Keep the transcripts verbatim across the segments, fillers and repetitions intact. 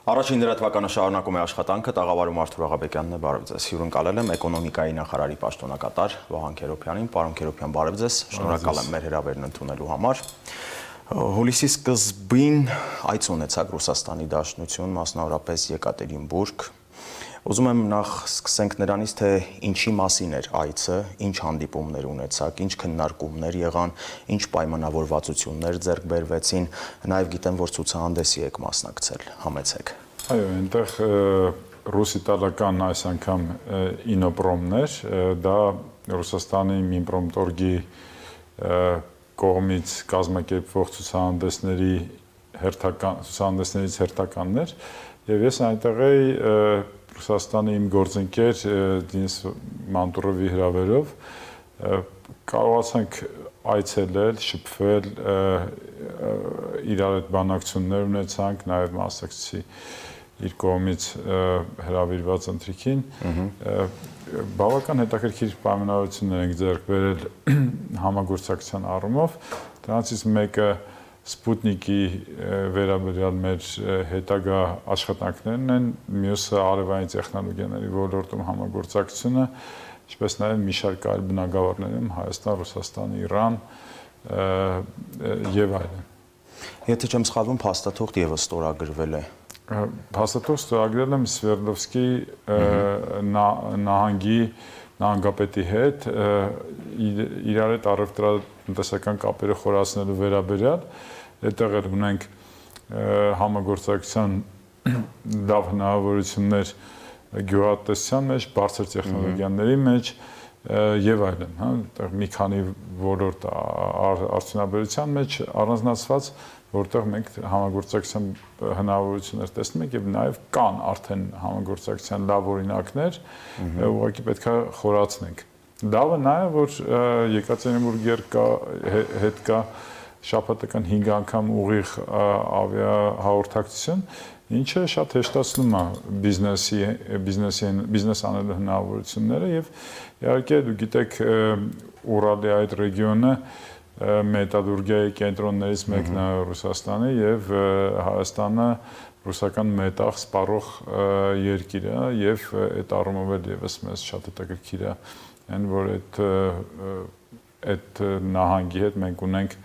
Առաջին լրատվականը շարունակում է աշխատանքը, տաղավարում Արթուր Աղաբեկյանն է, բարև ձեզ։ Հյուրընկալել եմ էկոնոմիկայի նախարարի պաշտոնակատար Վահան Քերոբյանին, պարոն Քերոբյան, բարև ձեզ, շնորհակալ եմ մեր հրավերն ընդունելու համար։ Հուլիսի սկզբին այց ունեցաք Ռուսաստանի Դաշնություն, մասնավորապես Եկատերինբուրգ։ Ուզում եմ նախ սկսենք նրանից, թե ինչի մասին էր այցը, ինչ հանդիպումներ ունեցաք, ինչ քննարկումներ եղան, ինչ պայմանավորվածություններ ձեռք բերվեցին, նաև գիտեմ, որ ցուցահանդեսի եք մասնակցել, համեցեք։ Այո, այնտեղ ռուս-իտալական այս անգամ ինոպրոմն էր, դա Ռուսաստանի Մինպրոմտորգի կողմից կազմակերպվող ցուցահանդեսների հերթական ցուցահանդեսներից հերթականն էր, եւ ես այնտեղ էի Ռուսաստանի իմ գործընկեր Դենիս Մանտուրովի հրավերով կարողացանք այցելել, շփվել, իրար հետ բանակցություններ ունեցանք, նաև մասնակցեցի իր կողմից հրավիրված ընթրիքին, բավական հետաքրքիր պայմանավորություններ ենք ձեռք բերել համագործակցության առումով, դրանցից մեկը Սպուտնիկի վերաբերյալ մեր հետագա աշխատանքներն են, մյուսը արևային տեխնոլոգիաների ոլորտում համագործակցությունը, ինչպես նաև մի շարք այլ բնագավառներում Հայաստան, Ռուսաստան, Իրան եւ այլն։ Եթե չեմ սխալվում, փաստաթուղթ եւս ստորագրվել է։ Փաստաթուղթ ստորագրել եմ Սվերդլովսկի նահանգի նահանգապետի հետ, իրար հետ առևտրատնտեսական կապերը խորացնելու վերաբերյալ, այդտեղ էլ ունենք համագործակցության լավ հնարավորություններ գյուղատնտեսության մեջ, բարձր տեխնոլոգիաների մեջ եւ այլն, հա, այդտեղ մի քանի ոլորտ արդյունաբերության մեջ առանձնացված, որտեղ մենք համագործակցության հնարավորություններ տեսնում ենք եւ նաեւ կան արդեն համագործակցության լավ օրինակներ, ուղղակի պետք է խորացնենք։ Լավը նա է, որ Եկատերինբուրգի հետ կա շաբաթական հինգ անգամ ուղիղ ավիահաղորդակցություն, ինչը շատ հեշտացնում է բիզնեսի բիզնեսի բիզնես անելու հնարավորությունները եւ իհարկե դու գիտեք Ուրալի այդ ռեգիոնը մետալուրգիայի կենտրոններից մեկն է Ռուսաստանի եւ Հայաստանը ռուսական մետաղ սպառող երկիր է եւ այդ առումով էլ եւս մեզ շատ հետաքրքիր է այն որ այդ այդ նահանգի հետ մենք ունենք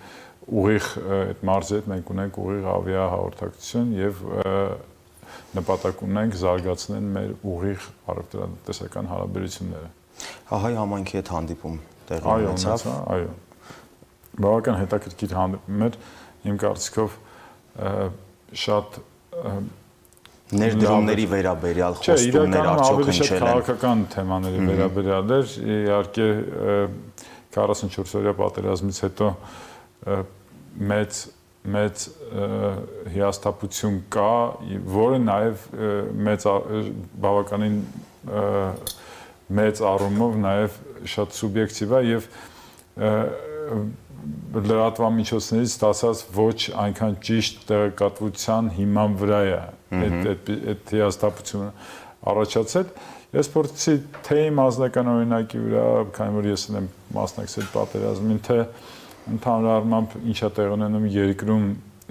ուղիղ այդ մարզի հետ մենք ունենք ուղիղ ավիահաղորդակցություն եւ նպատակ ունենք զարգացնել մեր ուղիղ առևտրատնտեսական հարաբերությունները։ Հայ համայնքի հետ հանդիպում տեղի ունեցավ։ Այո, բավական հետաքրքիր հանդիպում էր, իմ կարծիքով շատ ներդրումների վերաբերյալ խոստումներ արդյոք հնչել են։ Քաղաքական թեմաների վերաբերյալ էր, իհարկե քառասունչորս օրյա պատերազմից հետո մեծ մեծ հիասթափություն կա, որը նաև մեծ բավականին մեծ առումով նաև շատ սուբյեկտիվ է եւ լրատվամիջոցներից ստացած ոչ այնքան ճիշտ տեղեկատվության հիման վրա է այդ այդ հիասթափությունը առաջացել։ Ես փորձեցի թե իմ անձնական օրինակի վրա, քանի որ ես եմ մասնակցել պատերազմին, թե ընդհանուր առմամբ ինչա տեղ ունենում երկրում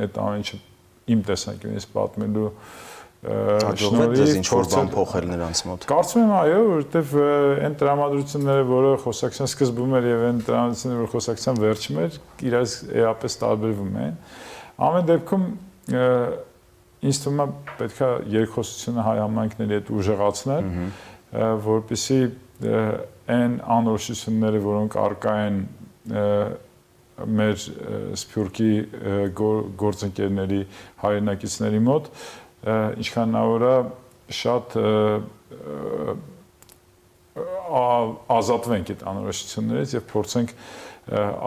այդ ամեն ինչը իմ տեսանկյունից պատմելու շնորհիվ ինչ-որ բան փոխել նրանց մոտ։ Կարծում եմ այո, որովհետև այն տրամադրությունները, որը խոսակցության սկզբում էր եւ այն տրամադրությունները, որ խոսակցության վերջում էր, իրաց էապես տարբերվում են։ Ամեն դեպքում ինձ թվում է պետք է երկխոսությունը հայ համայնքների հետ ուժեղացնել, որպեսզի այն անորոշությունները, որոնք առկա են մեր Սփյուռքի գործընկերների հայրենակիցների մոտ, ինչքան հնարավոր է շատ ազատվենք այդ անորոշություններից եւ փորձենք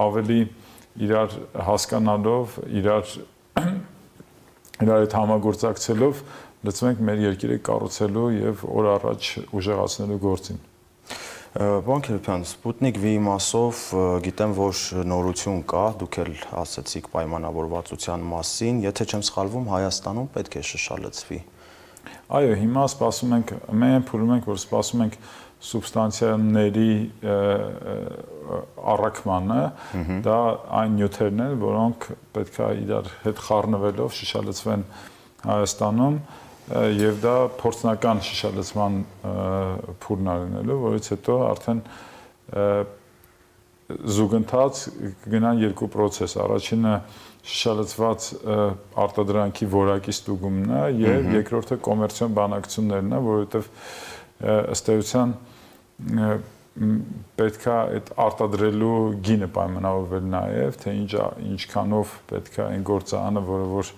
ավելի իրար հասկանալով, իրար իրար հետ համագործակցելով լծվենք մեր երկիրը կառուցելու եւ օր առաջ ուժեղացնելու գործին։ Պարոն Քերոբյան, Սպուտնիկ V-ի մասով գիտեմ, որ նորություն կա, դուք էլ ասացիք պայմանավորվածության մասին, եթե չեմ սխալվում, Հայաստանում պետք է շշալցվի։ Այո, հիմա սպասում ենք, մենք փորձում ենք, որ սպասում ենք սուբստանցիաների առաքմանը, դա այն նյութերն են, որոնք պետք է իրար հետ խառնվելով շշալցվեն Հայաստանում, եւ դա փորձնական շշալցման փուլն արնելու, որից հետո արդեն զուգընթաց կգնան երկու process, առաջինը շշալցված արտադրանքի որակի ստուգումն է եւ երկրորդը կոմերցիոն բանակցություններն է, որովհետեւ ըստ էության պետք է այդ արտադրելու գինը պայմանավորվել նաեւ, թե ինչ ինչքանով պետք է այն գործարանը, որը որ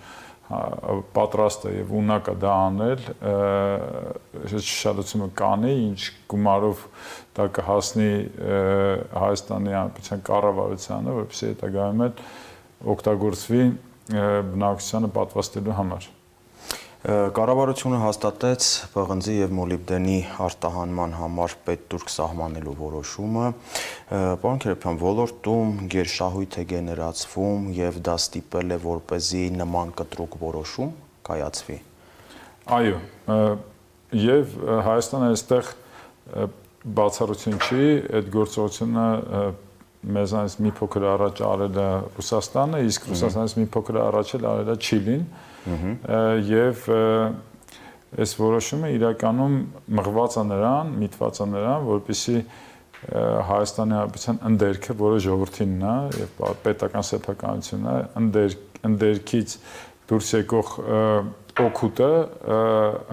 պատրաստ է եւ ունակ է դա անել, շշալցումը կանի, ինչ գումարով դա կհասնի Հայաստանի Հանրապետության կառավարությանը, որպեսզի հետագայում էլ օգտագործվի բնակչությանը պատվաստելու համար։ Կառավարությունը հաստատեց պղնձի եւ մոլիբդենի արտահանման համար պետտուրք սահմանելու որոշումը։ Պարոն Քերոբյան, ոլորտում գերշահույթ է գեներացվում եւ դա ստիպել է որպեսզի նման կտրուկ որոշում կայացվի։ Այո, եւ Հայաստանը այստեղ բացառություն չի, այդ գործողությունը մեզանից մի փոքր առաջ արել է Ռուսաստանը, իսկ Ռուսաստանից մի փոքր առաջ էլ արել է Չիլին, եւ այս որոշումը իրականում մղված է նրան, միտված է նրան, որպեսզի Հայաստանի Հանրապետության ընդերքը, որը ժողովրդինն է եւ պետական սեփականությունն է, ընդեր ընդերքից դուրս եկող օգուտը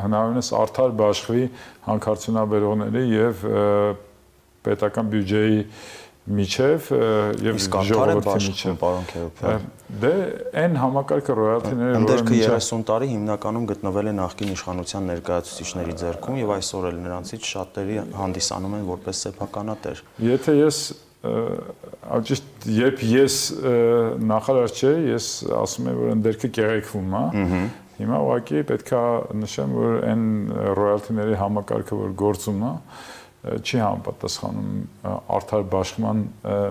հնարավորինս արդար բաշխվի հանքարդյունաբերողների եւ պետական բյուջեի միջև եւ ժողովրդի միջև, պարոն Քերոբյան։ Դե այն համակարգը ռոյալթիները, ընդերքը երեսուն տարի հիմնականում գտնվել է նախկին իշխանության ներկայացուցիչների ձեռքում եւ այսօր էլ նրանցից շատերի հանդիսանում են որպես սեփականատեր։ Եթե ես ճիշտ երբ ես նախարար չէի, ես ասում եմ, որ ընդերքը կեղեքվում է։ Հիմա ուղղակի պետք է նշեմ, որ այն ռոյալթիների համակարգը, որ գործում է, չի համապատասխանում արդար բաշխման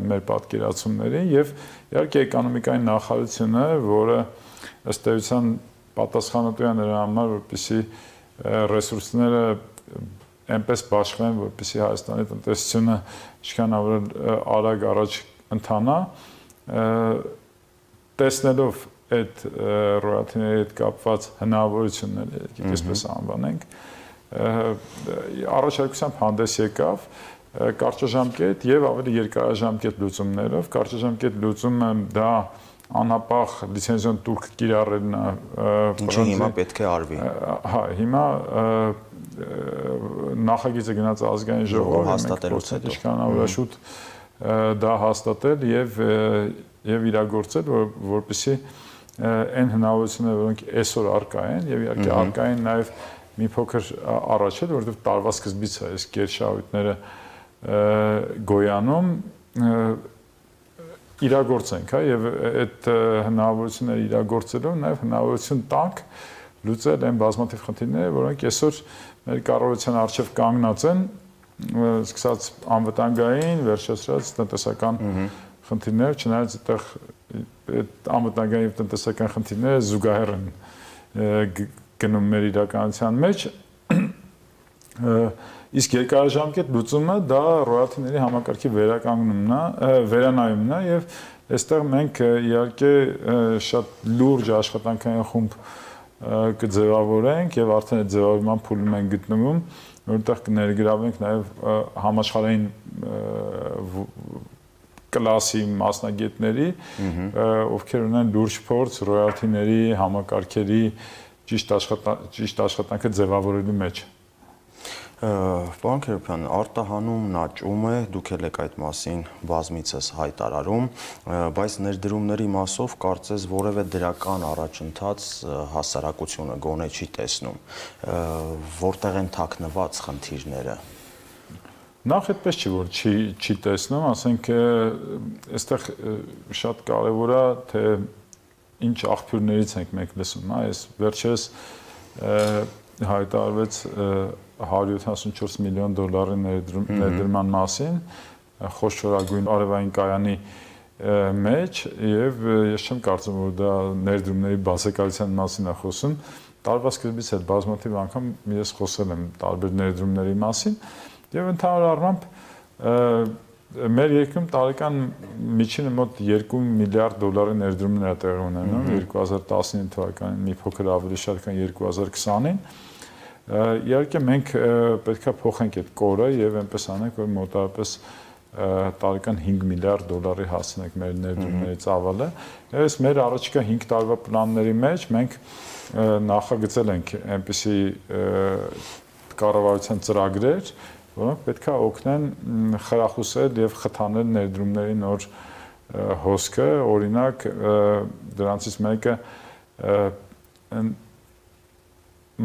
մեր պատկերացումներին եւ իհարկե էկոնոմիկայի նախարարությունը, որը ըստ էության պատասխանատու է նրա համար, որպեսզի ռեսուրսները այնպես բաշխվեն, որպեսզի Հայաստանի տնտեսությունը ինչքանավոր արագ առաջ ընթանա, տեսնելով այդ ռոյալթիների հետ կապված հնարավորությունները, եկեք այսպես անվանենք, առաջարկությամբ հանդես եկավ կարճաժամկետ եւ ավելի երկարաժամկետ լուծումներով։ Կարճաժամկետ լուծումը դա անհապաղ լիցենզիոն տուրք կիրառելն է, ինչը հիմա պետք է արվի։ Հա, հիմա նախագիծը գնաց ազգային ժողով, հաստատելուց հետո ինչքանավոր շուտ դա հաստատել եւ եւ իրագործել, որպեսզի այն հնարավորությունները, որոնք այսօր առկա են եւ իհարկե առկա են նաեւ մի փոքր առաջ էլ, որովհետև տարվա սկզբից է այս գերշահույթները գոյանում, իրագործենք, հա, եւ այդ հնարավորությունները իրագործելով նաեւ հնարավորություն տանք լուծել այն բազմաթիվ խնդիրները, որոնք այսօր մեր կառավարության առջև կանգնած են, սկսած անվտանգային, վերջացրած տնտեսական խնդիրներ, չնայած այդտեղ այդ անվտանգային եւ տնտեսական խնդիրները զուգահեռ են գնում մեր իրականության մեջ, իսկ երկարաժամկետ լուծումը դա ռոյալթիների համակարգի վերականգնումն է, վերանայումն է եւ այստեղ մենք իհարկե շատ լուրջ աշխատանքային խումբ կձևավորենք եւ արդեն այդ ձևավորման փուլում ենք գտնվում, որտեղ կներգրավենք նաեւ համաշխարհային կլասի մասնագետների, ովքեր ունեն լուրջ փորձ ռոյալթիների համակարգերի ճիշտ աշխատանքը ձևավորելու մեջ։ Պարոն Քերոբյան, արտահանումն աճում է, դուք եք այդ մասին բազմիցս հայտարարում, բայց ներդրումների մասով կարծես որևէ դրական առաջընթաց հասարակությունը գոնե չի տեսնում, որտեղ են թաքնված խնդիրները։ Նախ այդպես չի, որ չի չի տեսնում, ասենք այստեղ շատ կարևոր է, թե ինչ աղբյուրներից ենք մենք լսում, այս վերջերս հայտարարվեց հարյուր յոթանասունչորս միլիոն դոլարի ներդրման մասին, խոշորագույն արևային կայանի մեջ եւ ես չեմ կարծում, որ դա ներդրումների բացակայության մասին է խոսում, տարվա սկզբից էլ բազմաթիվ անգամ ես խոսել եմ տարբեր ներդրումների մասին եւ ընդհանուր առմամբ մեր երկրում տարեկան միջինը մոտ երկու միլիարդ դոլարի ներդրումներ է տեղի ունենում երկու հազար տասնինը թվականին, մի փոքր ավելի շատ քան երկու հազար քսանին։ Իհարկե մենք պետք է փոխենք այդ կորը եւ այնպես անենք, որ մոտավորապես տարեկան հինգ միլիարդ դոլարի հասնենք մեր ներդրումների ծավալը։ Այս մեր առաջիկա հինգ տարվա պլանների մեջ մենք նախագծել ենք այնպիսի կառավարության ծրագրեր, որոնք պետք է օգնեն խրախուսել եւ խթանել ներդրումների նոր հոսքը, օրինակ դրանցից մեկը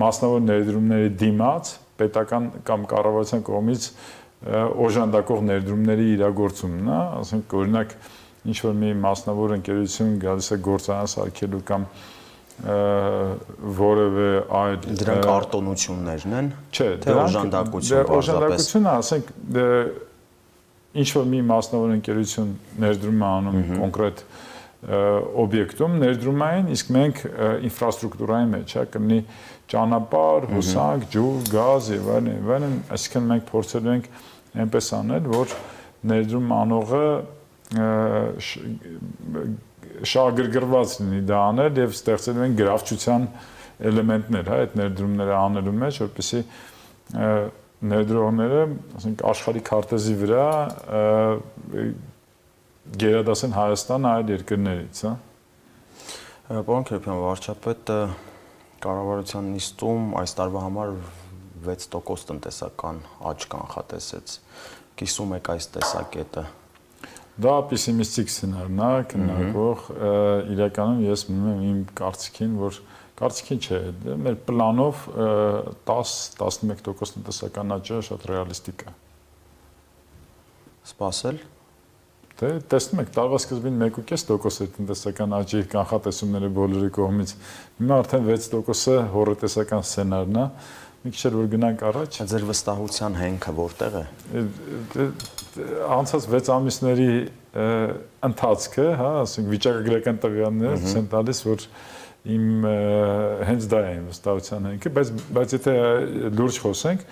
մասնավոր ներդրումների դիմաց պետական կամ կառավարության կողմից օժանդակող ներդրումների իրագործումն է, ասենք օրինակ ինչ որ մի մասնավոր ընկերություն գալիս է գործարան սարքելու կամ որևէ այլ դրանք արտոնություններն են, չէ, թե օժանդակություն բարձրապես։ Օժանդակությունը, ասենք, ինչ որ մի մասնավոր ընկերություն ներդրում է անում կոնկրետ օբյեկտում, ներդրումային, իսկ մենք ինֆրաստրուկտուրայի մեջ, հա, կլինի ճանապարհ, հոսանք, ջուր, գազ եւ այլն, եւ այլն, այսինքն մենք փորձելու ենք այնպես անել, որ ներդրում անողը շահագրգռված լինի դա անել եւ ստեղծելու են գրավչության էլեմենտներ, հա, այդ ներդրումները անելու մեջ, որպեսզի ներդրողները, ասենք, աշխարհի քարտեզի վրա գերադասեն Հայաստանը այլ երկրներից, հա։ Պարոն Քերոբյան, վարչապետ կառավարության նիստում այս տարվա համար վեց տոկոս տնտեսական աճ կանխատեսեց։ Կիսում եք այս տեսակետը։ Դա պեսիմիստիկ սցենարն է, քննարկող, իրականում ես մնում եմ իմ կարծիքին, որ կարծիքին չէ, մեր պլանով տաս տասնմեկ տոկոս տնտեսական աճը շատ ռեալիստիկ է։ Սպասել։ Դե տեսնում եք, տարվա սկզբին մեկ ու կես տոկոս է տնտեսական աճի կանխատեսումները բոլորի կողմից։ Հիմա արդեն վեց տոկոսը հոռետեսական սցենարն է։ Մի քիչ որ գնանք առաջ։ Ձեր վստահության հենքը որտեղ է։ Անցած վեց ամիսների ընթացքը, հա, ասենք վիճակագրական տվյալները ցույց տալիս, որ իմ հենց դա է իմ վստահության հենքը, բայց բայց եթե լուրջ խոսենք,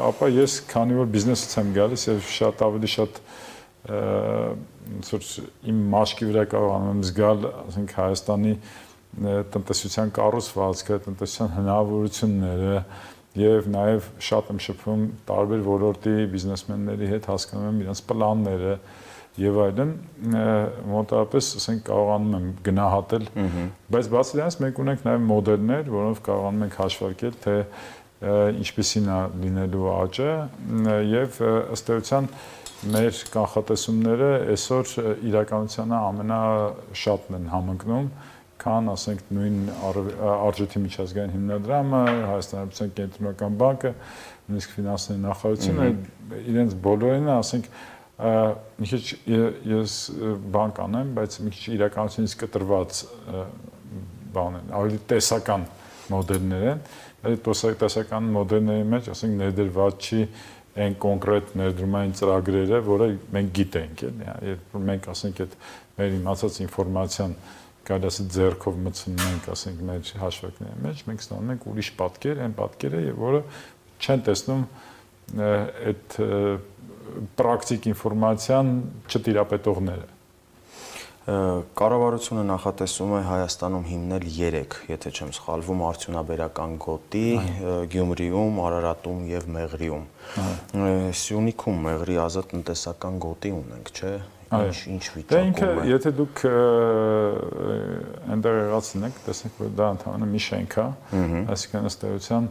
ապա ես քանի որ բիզնեսից եմ գալիս եւ շատ ավելի շատ ոնց իմ մաշկի վրա կարողանում եմ զգալ, ասենք Հայաստանի տնտեսության կառուցվածքը, տնտեսության հնարավորությունները եւ նաեւ շատ եմ շփվում տարբեր ոլորտի բիզնեսմենների հետ, հասկանում եմ իրենց պլանները եւ այլն, մոտավորապես, ասենք, կարողանում եմ գնահատել, բայց բացի դրանից մենք ունենք նաեւ մոդելներ, որոնով կարողանում ենք հաշվարկել, թե ինչպիսին է լինելու աճը եւ ըստ էության մեր կանխատեսումները այսօր իրականությանը ամենաշատն են համընկնում, քան, ասենք, նույն արժույթի միջազգային հիմնադրամը, Հայաստանի Հանրապետության կենտրոնական բանկը, նույնիսկ ֆինանսների նախարարությունը, իրենց բոլորին, ասենք, մի քիչ ես բան կանեմ, բայց մի քիչ իրականությունից կտրված բան են, ավելի տեսական մոդելներ են, այդ տեսական մոդելների մեջ, ասենք, ներդրված չի այն կոնկրետ ներդրումային ծրագրերը, որը մենք գիտենք, էլի, երբ մենք, ասենք, այդ մեր իմացած ինֆորմացիան կարելի ասել ձեռքով մտցնում ենք, ասենք, մեր հաշվարկների մեջ, մենք ստանում ենք ուրիշ պատկեր, այն պատկերը, որը չեն տեսնում այդ պրակտիկ ինֆորմացիան չտիրապետողները։ Կառավարությունը նախատեսում է Հայաստանում հիմնել երեք, եթե չեմ սխալվում, արդյունաբերական գոտի, Գյումրիում, Արարատում եւ Մեղրիում։ Սյունիքում Մեղրի ազատ տնտեսական գոտի ունենք, չէ՞։ Ինչ ինչ վիճակում է։ Եթե դուք այնտեղ եղածնեք, տեսնեք, որ դա ընդհանրապես մի շենք է, այսինքն ըստ էության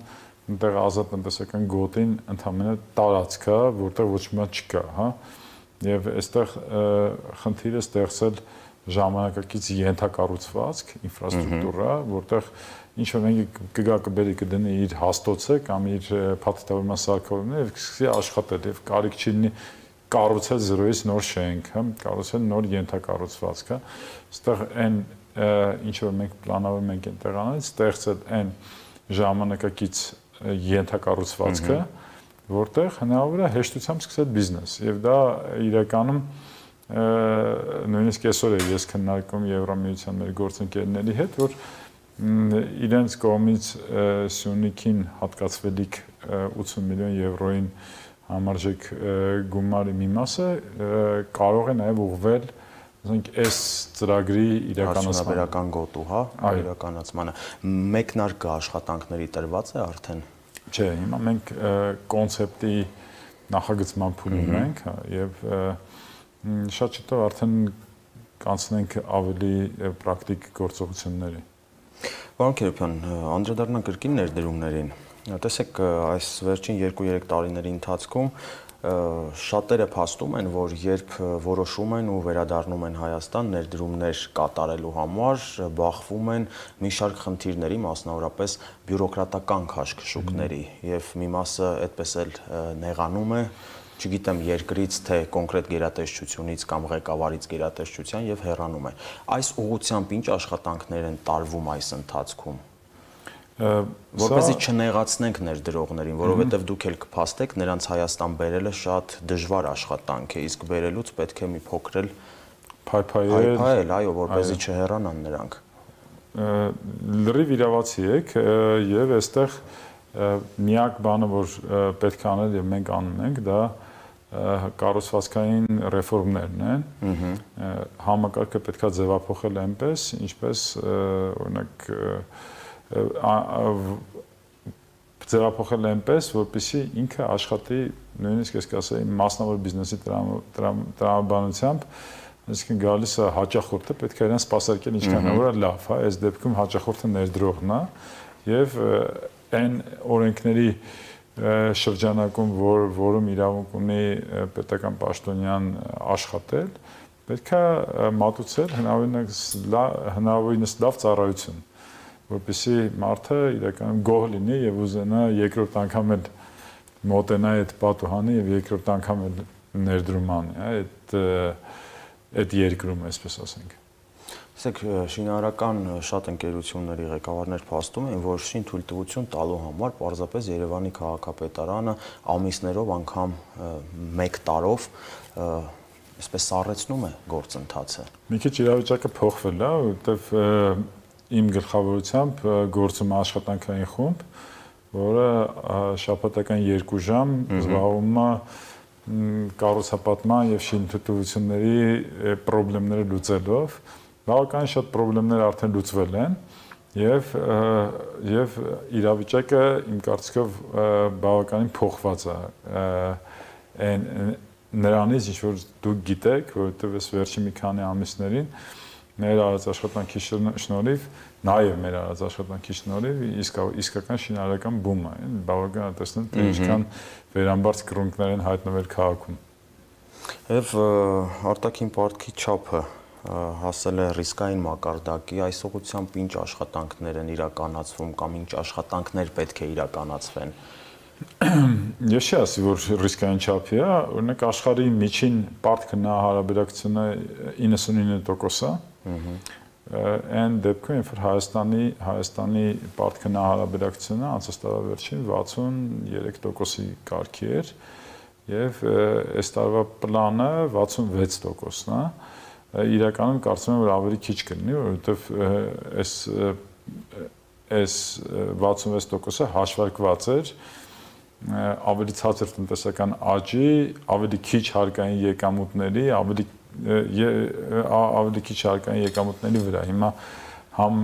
այնտեղ ազատ տնտեսական գոտին ընդհանրապես տարածք է, որտեղ ոչ մի բան չկա, հա։ Եվ այստեղ խնդիրը ստեղծել ժամանակակից ենթակառուցվածք, ինֆրաստրուկտուրա, որտեղ ինչ որ մենք կգա կբերի կդնի իր հաստոցը կամ իր փաթեթավորման սարքավորումները եւ սկսի աշխատել եւ կարիք չի լինի կառուցել զրոյից նոր շենք, հա, կառուցել նոր ենթակառուցվածք, հա։ Այստեղ այն ինչ որ մենք պլանավորում ենք այնտեղ անել, ստեղծել այն ժամանակակից ենթակառուցվածքը, որտեղ հնարավոր է հեշտությամբ սկսել բիզնես եւ դա իրականում նույնիսկ այսօր է ես քննարկում Եվրամիության մեր գործընկերների հետ, որ իրենց կողմից Սյունիքին հատկացվելիք ութսուն միլիոն եվրոյին համարժեք գումարի մի մասը կարող է նաև ուղղվել ասենք այս ծրագրի իրականացման գոտու, հա, իրականացմանը։ Մեկնարկը աշխատանքների տրված է արդեն։ Չէ, հիմա մենք կոնցեպտի նախագծման փուլում ենք եւ շատ շուտով արդեն կանցնենք ավելի պրակտիկ գործողությունների։ Պարոն Քերոբյան, անդրադառնանք կրկին ներդրումներին։ Տեսեք, այս վերջին երկու-երեք տարիների ընթացքում շատերը փաստում են, որ երբ որոշում են ու վերադառնում են Հայաստան ներդրումներ կատարելու համար, բախվում են մի շարք խնդիրների, մասնավորապես բյուրոկրատական քաշքշուկների, եւ մի մասը այդպես էլ նեղանում է, չգիտեմ, երկրից թե կոնկրետ գերատեսչությունից կամ ղեկավարից գերատեսչության եւ հեռանում է։ Այս ուղղությամբ ինչ աշխատանքներ են տարվում այս ընթացքում։ Որպեսզի չնեղացնենք ներդրողներին, որովհետև դուք էլ կփաստեք, նրանց Հայաստան բերելը շատ դժվար աշխատանք է, իսկ բերելուց պետք է մի փոքր էլ փայփայել, այո, որպեսզի չհեռանան նրանք։ Լրիվ իրավացի եք եւ այստեղ միակ բանը, որ պետք է անել եւ մենք անում ենք, դա կառուցվածքային ռեֆորմներն են։ Համակարգը պետք է ձևափոխել այնպես, ինչպես օրինակ ձևափոխել այնպես, որպեսզի ինքը աշխատի, նույնիսկ ես կասեի, մասնավոր բիզնեսի տրամաբանությամբ, այսինքն գալիս է հաճախորդը, պետք է իրեն սպասարկել ինչքան է լավ, հա, այս դեպքում հաճախորդը ներդրողն է եւ այն օրենքների շրջանակում, որ որում իրավունք ունի պետական պաշտոնյան աշխատել, պետք է մատուցել հնարավորինս լավ ծառայություն, որպեսզի մարդը իրականում գոհ լինի եւ ուզենա երկրորդ անգամ էլ մոտենա այդ պատուհանը եւ երկրորդ անգամ էլ ներդրում անի, այդ այդ երկրում, այսպես ասենք։ Տեսեք, շինարարական շատ ընկերությունների ղեկավարներ փաստում են, որ շինթույլտվություն տալու համար պարզապես Երևանի քաղաքապետարանը ամիսներով անգամ մեկ տարով այսպես սառեցնում է գործընթացը։ Մի քիչ իրավիճակը փոխվել է, որովհետև իմ գլխավորությամբ գործում է աշխատանքային խումբ, որը շաբաթական երկու ժամ զբաղվում է կառուցապատման եւ շինթույլտվությունների խնդիրները լուծելով։ Բավականին շատ խնդիրներ արդեն լուծվել են եւ եւ իրավիճակը իմ կարծիքով բավականին փոխված է այն նրանից, ինչ որ դուք գիտեք, որովհետեւ այս վերջի մի քանի ամիսներին մեր արած աշխատանքի շնորհիվ, նաեւ մեր արած աշխատանքի շնորհիվ իսկ իսկական շինարարական բում է, բավական է տեսնել, թե ինչքան վերամբարձ կրունկներ են հայտնվել քաղաքում։ Եվ արտաքին պարտքի չափը հասել է ռիսկային մակարդակի, այս ուղղությամբ ինչ աշխատանքներ են իրականացվում կամ ինչ աշխատանքներ պետք է իրականացվեն։ Ես չի ասի, որ ռիսկային չափի է, օրինակ աշխարհի միջին պարտքը նա հարաբերակցությունը իննսունինը տոկոս է։ Այն դեպքում, երբ որ Հայաստանի Հայաստանի պարտքը նա հարաբերակցությունը անցած տարվա վերջին վաթսուներեք տոկոսի կարգի էր եւ այս տարվա պլանը վաթսունվեց տոկոսն է։ Իրականում կարծում եմ, որ ավելի քիչ կլինի, որովհետև այս այս վաթսունվեց տոկոսը հաշվարկված էր ավելի ցածր տնտեսական աճի, ավելի քիչ հարկային եկամուտների, ավելի ավելի քիչ հարկային եկամուտների վրա։ Հիմա համ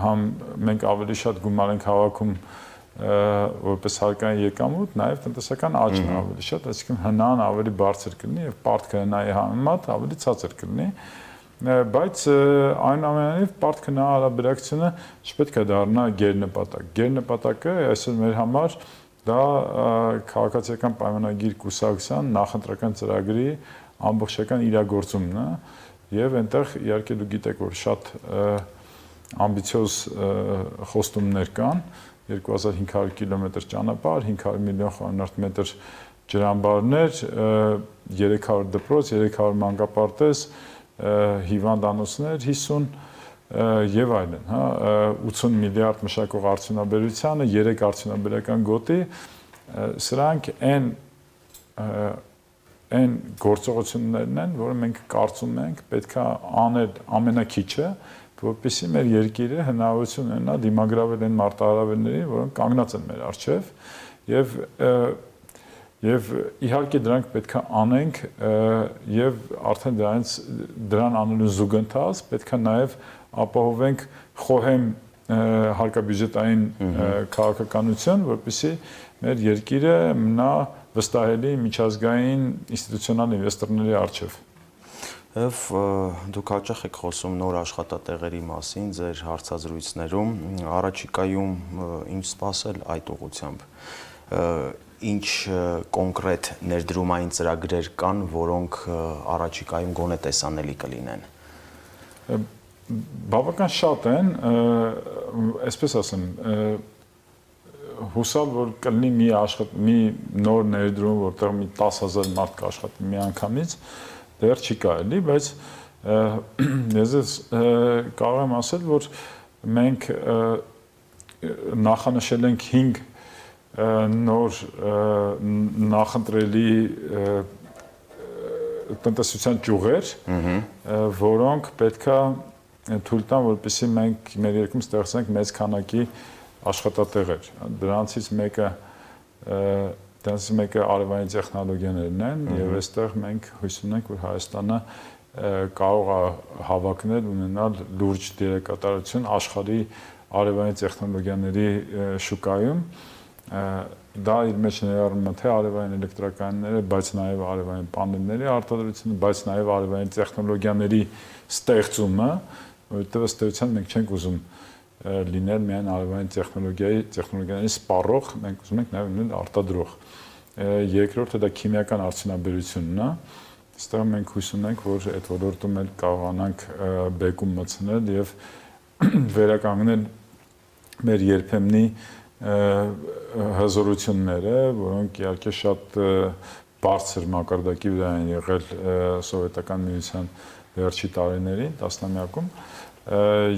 համ մենք ավելի շատ գումար ենք հավաքում որպես հարկային եկամուտ, նաև տնտեսական աճն ավելի շատ, այսինքն հնան ավելի բարձր կլինի եւ պարտքը հնայի համեմատ ավելի ցածր կլինի, բայց այնուամենայնիվ պարտքը նա հարաբերակցությունը չպետք է դառնա գերնպատակ։ Գերնպատակը այսօր մեր համար դա քաղաքացիական պայմանագիր կուսակցության նախընտրական ծրագրի ամբողջական իրագործումն է եւ այնտեղ իհարկե դուք գիտեք, որ շատ ամբիցիոզ խոստումներ կան, երկու հազար հինգ հարյուր կիլոմետր ճանապարհ, հինգ հարյուր միլիոն խառնարդ մետր ջրամբարներ, երեք հարյուր դպրոց, երեք հարյուր մանկապարտեզ, հիվանդանոցներ հիսուն եւ այլն, հա, ութսուն միլիարդ մշակող արդյունաբերությանը, երեք արդյունաբերական գոտի, սրանք այն այն գործողություններն են, որը մենք կարծում ենք պետք է անել ամենակիչը, որպեսզի մեր երկիրը հնարավորություն ունենա դիմագրավել այն մարտահրավերներին, որոնք կանգնած են մեր առջև, եւ Եվ իհարկե դրանք պետք է անենք եւ արդեն դրանից դրան անելու զուգընթաց պետք է նաեւ ապահովենք խոհեմ հարկաբյուջետային քաղաքականություն, որպեսզի մեր երկիրը մնա վստահելի միջազգային ինստիտուցիոնալ ինվեստորների առջև։ Եվ դուք հաճախ եք խոսում նոր աշխատատեղերի մասին ձեր հարցազրույցներում, առաջիկայում ինչ սպասել այդ ուղղությամբ։ Ինչ կոնկրետ ներդրումային ծրագրեր կան, որոնք առաջիկայում գոնե տեսանելի կլինեն։ Բավական շատ են, այսպես ասեմ, հուսալ որ կլինի մի աշխատ մի նոր ներդրում, որտեղ մի տասը հազար մարդ կաշխատի մի անգամից, դեռ չի կարելի, բայց ես կարող եմ ասել, որ մենք նախանշել ենք հինգ նոր նախընտրելի տնտեսության ճյուղեր, որոնք պետքա թույլ տան, որպեսզի մենք մեր երկրում ստեղծենք մեծ քանակի աշխատատեղեր։ Դրանցից մեկը դրանցից մեկը արևային տեխնոլոգիաներն են, եւ այստեղ մենք հույս ունենք, որ Հայաստանը կարող է հավակնել, ունենալ լուրջ դերակատարություն աշխարհի արևային տեխնոլոգիաների շուկայում։ Դա իր մեջ ներառում է թե արևային էլեկտրականները, բայց նաև արևային պանելների արտադրությունը, բայց նաև արևային տեխնոլոգիաների ստեղծումը, որովհետև ըստ էության մենք չենք ուզում լինել միայն արևային տեխնոլոգիայի տեխնոլոգիաների սպառող, մենք ուզում ենք նաև լինել արտադրող։ Երկրորդը դա քիմիական արդյունաբերությունն է։ Այստեղ մենք հույս ունենք, որ այդ ոլորտում էլ կարողանանք բեկում մտցնել եւ վերականգնել մեր երբեմնի հզորությունները, որոնք իհարկե շատ բարձր մակարդակի վրա են եղել սովետական միության վերջի տարիներին, տասնամյակում։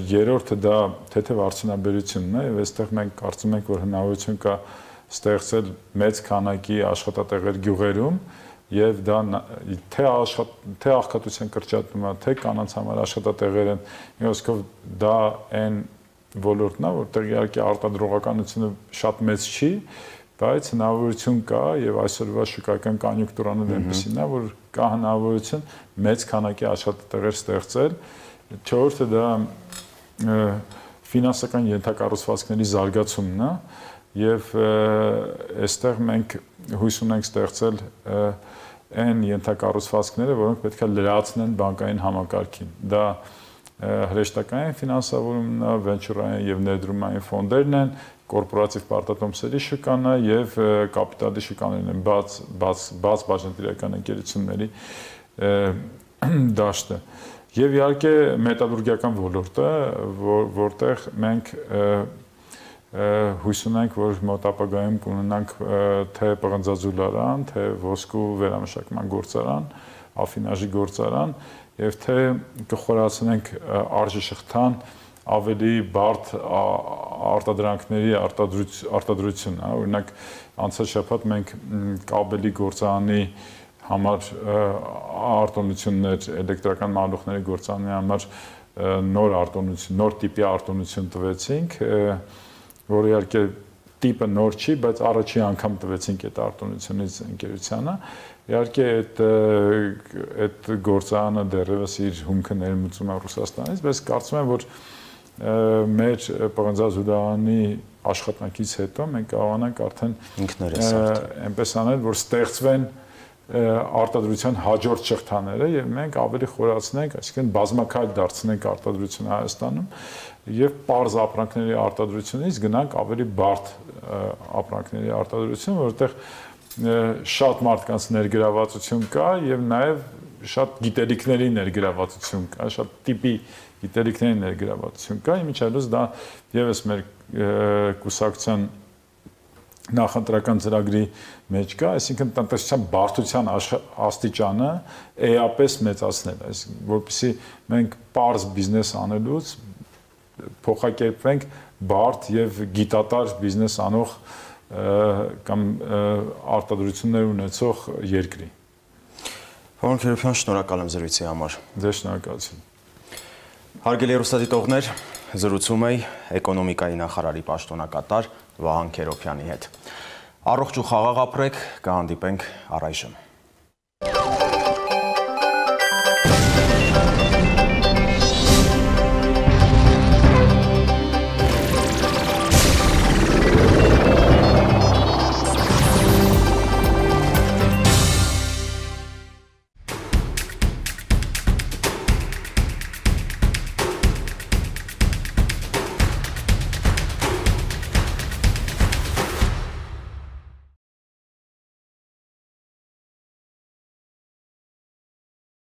Երրորդը դա թեթև արդյունաբերությունն է, եւ այստեղ մենք կարծում ենք, որ հնարավորություն կա ստեղծել մեծ քանակի աշխատատեղեր գյուղերում, եւ դա թե աշխատատեղեր, թե աղքատության կրճատումը, թե կանանց համար աշխատատեղեր են, ոսկով դա այն ոլորտն է, որտեղ իհարկե արտադրողականությունը շատ մեծ չի, բայց հնարավորություն կա եւ այսօրվա շուկայական կոնյունկտուրան այնպեսին է, որ կա հնարավորություն մեծ քանակի աշխատատեղեր ստեղծել։ Չորրորդը դա ֆինանսական ենթակառուցվածքների զարգացումն է եւ այստեղ մենք հույս ունենք ստեղծել այն ենթակառուցվածքները, որոնք պետք է լրացնեն բանկային համակարգին։ Դա հրեշտակային ֆինանսավորումն է, վենչուրային եւ ներդրումային ֆոնդերն են, կորպորատիվ պարտատոմսերի շուկան է եւ կապիտալի շուկաներն են, բաց բաց բաց բաժնետիրական ընկերությունների դաշտը։ Եվ իհարկե մետալուրգիական ոլորտը, որտեղ մենք հույս ունենք, որ մոտ ապագայում կունենանք թե պղնձաձուլարան, թե ոսկու վերամշակման գործարան, աֆինաժի գործարան, եւ թե կխորացնենք արժեշղթան ավելի բարդ արտադրանքների արտադրություն, օրինակ անցած շաբաթ մենք կաբելի գործարանի համար արտոնություններ, էլեկտրական մալուխների գործարանի համար նոր արտոնություն, նոր տիպի արտոնություն տվեցինք, որը իհարկե տիպը նոր չի, բայց առաջի անգամ տվեցինք այդ արտոնությունից ընկերությանը։ Իհարկե այդ այդ գործարանը դեռևս իր հումքը ներմուծում է Ռուսաստանից, բայց կարծում եմ, որ մեր պղնձաձուլարանի աշխատանքից հետո մենք կարողանանք արդեն ինքներս այնպես անել, որ ստեղծվեն արտադրության հաջորդ շղթաները եւ մենք ավելի խորացնենք, այսինքն բազմակայլ դարձնենք արտադրությունը Հայաստանում եւ պարզ ապրանքների արտադրությունից գնանք ավելի բարդ ապրանքների արտադրություն, որովհետեւ շատ մարդկանց ներգրավվածություն կա եւ նաեւ շատ գիտելիքների ներգրավվածություն կա, շատ տիպի գիտելիքների ներգրավվածություն կա, իմիջիայլոց դա եւս մեր կուսակցության նախընտրական ծրագրի մեջ կա, այսինքն տնտեսության բարդության աստիճանը էապես մեծացնել, այսինքն որպեսզի մենք պարզ բիզնես անելուց փոխակերպվենք բարդ եւ գիտատար բիզնես անող կամ արտադրություններ ունեցող երկրի։ Պարոն Քերոբյան, շնորհակալ եմ զրույցի համար։ Ձեզ շնորհակալություն։ Հարգելի հեռուստադիտողներ, զրուցում էի էկոնոմիկայի նախարարի պաշտոնակատար Վահան Քերոբյանի հետ։ Առողջ ու խաղաղ ապրեք, կհանդիպենք առայժմ։